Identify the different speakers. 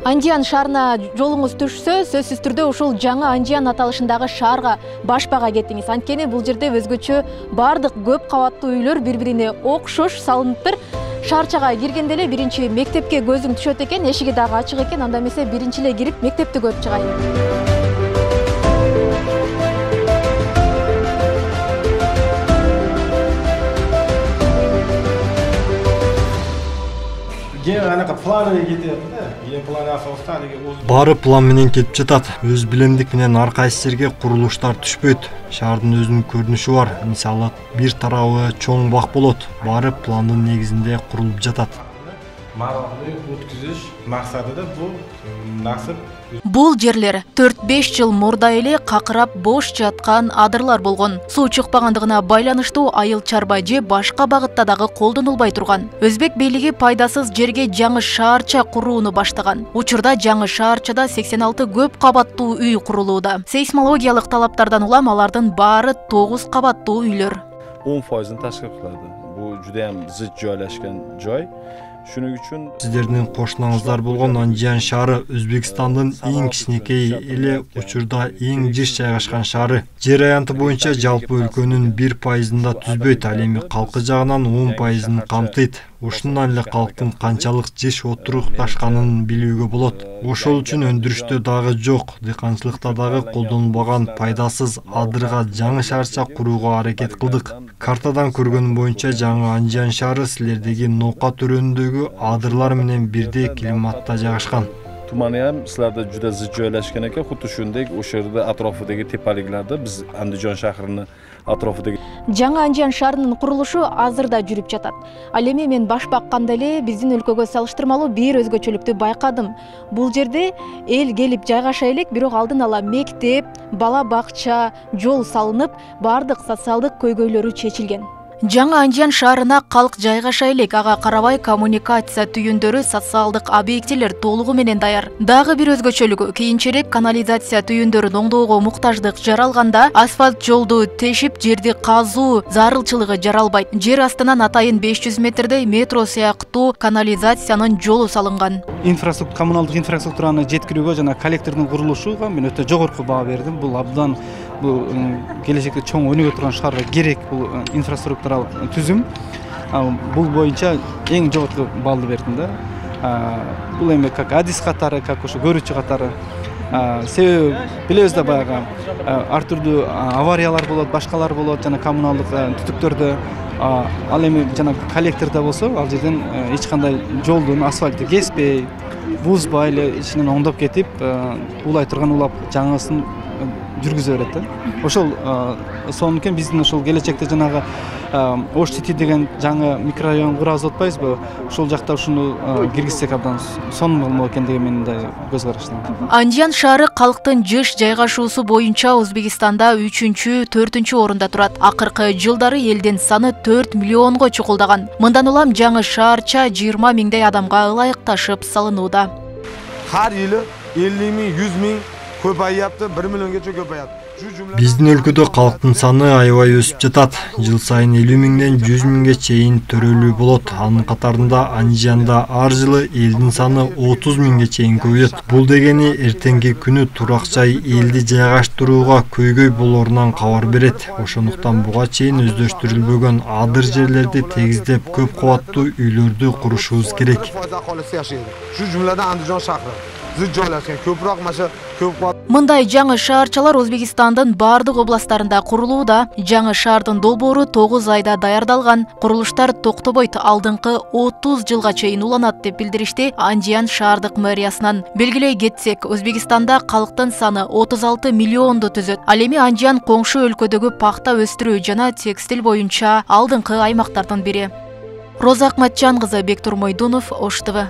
Speaker 1: Андиан шаарына жолуңуз түшсө, сөзсүз түрдө ушул жаңы Андиан аталышындагы шаарга башпага кетиңиз. Анткени бул жерде өзгөчө бардык көп кабаттуу үйлөр бири-бирине окшош салыныптыр. Шаарчага киргенде эле биринчи мектепке көзүң түшөт экен, эшиги дагы ачык экен. Анда эмесе биринчи эле кирип мектепти көрүп чыгайын.
Speaker 2: Баары план менен кетип жатат. Өз билемдик менен ар кайсы жерге курулуштар түшпөйт. Шаардын өзүнүн көрүнүшү бар. Мисалы, бир тарабы чоң бак болот. Баары пландын негизинде курулуп жатат.
Speaker 3: Өткүзүш максатыда бул насып.
Speaker 1: Бул жерлер 4-5 жыл мурда эле какырап бош жаткан адырлар болгон. Суу чыкпагандыгына байланыштуу айыл чарба же башка багытта дагы колдонулбай турган. Өзбек бийлиги пайдасыз жерге жаңы шаарча курууну баштаган. Учурда жаңы шаарчада 86 көп кабаттуу үй курулууда. Сейсмологиялык талаптардан улам алардын баары 9 кабаттуу үйлөр.
Speaker 4: 10% ташкил кылады. Бул жуда ham зыт joylashgan joy. Шуның үчүн
Speaker 2: сиздердин кошунаңыздар болгон Андиан шаары Өзбекстандын эң кичинекей эле учурда эң жыш жайгашкан шаары. Жер аянты боюнча жалпы өлкөнүн 1%-да түзбөйт, ал эми калкы жагынан 10%-ын камтыйт. Ушундан эле калктын канчалык жыш отурукташканын билүүгө болот. Ошол үчүн өндүрүштө дагы жок, дыйканчылыкта дагы колдонулбаган пайдасыз адырга жаңы шаарча курууга аракет кылдык. Картадан көргөнүм боюнча жаңы Андиан шаары силердеги Нока төрөнүндөгү адырлар менен бирдей климатта жайгашкан.
Speaker 4: Туманы ham sizlarda juda zid joylashgan ekan, xuddi shunday o'sha yerda atrofidagi tepaliklarda biz Andijon shahrini atrofidagi
Speaker 1: жаңы Андиан шаарынын курулушу азырда жүрүп жатат. Ал эми мен баш бакканда эле биздин өлкөгө салыштырмалуу бир өзгөчөлүктү байкадым. Бул жерде эл келип жайгаша элек, бирок алдын ала мектеп, бала бакча, жол салынып, бардык социалдык көйгөйлөрү чечилген. Жаңы Андиан шаарына калк жайгаша элек, ага карабай коммуникация түйүндөрү, социалдык объектилер толугу менен даяр. Дагы бир өзгөчөлүгү, кийинчерээк канализация түйүндөрүн оңдоого муктаждык жаралганда асфальт жолду тешип, жерди казуу зарылчылыгы жаралбайт. Жер астынан атайын 500 метрдей метро сыяктуу канализациянын жолу салынган.
Speaker 5: Коммуналдык инфраструктураны жеткирүүгө жана коллектордун курулушуга мен өтө жогорку баа бердим. Бул абдан келечекте чоң өнүгө турган шаарга керек бул инфраструктуралык түзүм. Бул боюнча эң жогорку баллды бердим да. Бул эми как адис катары, как ошо көрүүчү катары. Себеби билебиз да баягы ар түрдүү авариялар болот, башкалар болот жана коммуналдык түтүктөрдө. Ал эми жана коллектордо болсо, ал жерден эч кандай жолдун асфальты кеспей, бузбай эле ичинен оңдоп кетип, улай турган улап жаңысын жүргүзө берет да. Ошол сонун биздин ошол келечекте жанагы Ош Сити деген жаңы микрорайон курабыз деп атпайбызбы? Ошол жакта ушуну киргизсек абдан сонун болмок экен деген менин да көз караштам.
Speaker 1: Андиан шаары калктын жыш жайгашуусу боюнча Өзбекстанда 3-4 орунда турат. Акыркы жылдары элдин саны 4 миллионго чукулдаган. Мындан улам жаңы шаарча 20 миңдей адамга ылайыкташып салынууда.
Speaker 6: Har yili 50 ming, 100 ming көбөйөптү, 1 миллионгече көбөйөт.
Speaker 2: Биздин өлкөдө калктын саны аябай өсүп жатат. Жыл сайын 50 миңден 100 миңге чейин төрөлүү болот. Анын катарында Андианда ар жылы элдин саны 30 миңге чейин көбөйөт. Бул дегени эртеңки күнү турак жай элди жайгаштырууга көйгөй болорунан кабар берет. Ошондуктан буга чейин өздөштүрүлбөгөн адыр жерлерди тегиздеп көп кабаттуу үйлөрдү курушубуз керек.
Speaker 6: Шу жумладан Андижон шаары зыт joylashgan ko'proq mana ko'p
Speaker 1: Мындай жаңы шаарчалар Өзбекстандын бардык областтарында курулууда. Жаңы шаардын долбоору 9 айда даярдалган. Курулуштар токтобойт, алдыңкы 30 жылга чейин уланат деп билдиришти Андиан шаардык мэриясынан. Белгилей кетсек, Өзбекстанда калктын саны 36 миллионду түзөт. Ал эми Андиан коңшу өлкөдөгү пахта өстүрүү жана текстиль боюнча алдыңкы аймактардын бири. Роза Акматжан кызы, Бектур Мойдунов, Ош ТВ.